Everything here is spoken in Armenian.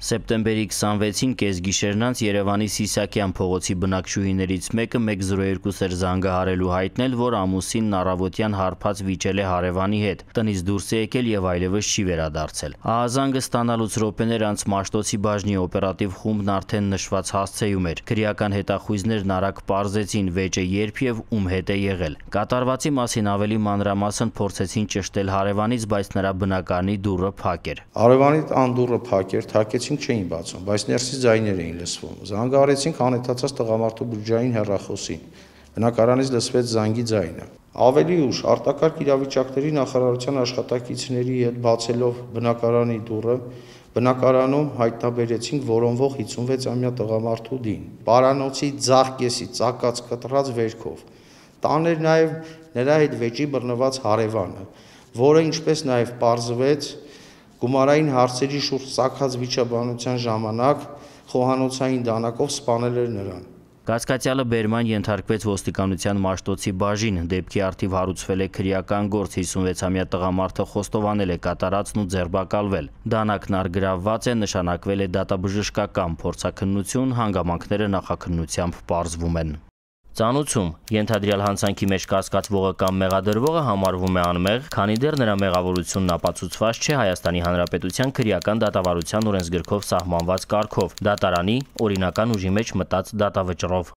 Սեպտեմբերի 26-ին կեսգիշերն անց Երևանի Սիսակյան փողոցի բնակչուհիներից մեկը 102 էր զանգահարելու հայտնել, որ ամուսինն առավոտյան հարբած վիճել է հարևանի հետ, տնից դուրս է եկել եւ այլևս չի վերադարձել։ Ահազանգը ստանալուց րոպեներ անց Մաշտոցի բաժնի օպերատիվ խումբն արդեն նշված հասցեում էր։ Քրեական հետախույզներն արագ պարզեցին վեճը երբ եւ ում հետ է եղել։ Կատարվածի մասին ավելի մանրամասն փորձեցին ճշտել հարևանից, բայց նրա բնակարանի դուռը փակ էր։ Հարևանի տան դուռը փակ էր, չէին բացում, բայց ներսից ձայներ էին լսվում։ Զանգահարեցինք անհետացած տղամարդու բջջային հեռախոսին։ Բնակարանից լսվեց զանգի ձայնը։ Ավելի ուշ արտակարգ իրավիճակների նախարարության աշխատակիցների հետ բացելով բնակարանի դուռը, բնակարանում հայտնաբերեցինք որոնվող 56-ամյա տղամարդու դին։ Պարանոցի ձախ կեսի ծակած կտրած վերքով։ Տան էր նաև նրա հետ վեճի բռնված հարևանը, որը ինչպես նաև պարզվեց գումարային հարցերի շուրջ ծագած վիճաբանության ժամանակ խոհանոցային դանակով սպանել էր նրան։ Կասկածյալը բերման ենթարկվեց ոստիկանության Մաշտոցի բաժին, դեպքի առթիվ հարուցվել է քրեական գործ, 56-ամյա տղամարդը խոստովանել է կատարածն ու ձերբակալվել։ Դանակն առգրավված է, նշանակվել է դատաբժշկական փորձաքննություն, հանգամանքները նախաքննությամբ պարզվում են։ Ծանուցում ենթադրյալ հանցանքի մեջ կասկածվողը կամ մեղադրվողը համարվում է անմեղ, քանի դեռ նրա մեղավորությունն ապացուցված չէ Հայաստանի Հանրապետության քրեական դատավարության օրենսգրքով սահմանված կարգով՝ դատարանի օրինական ուժի մեջ մտած դատավճռով։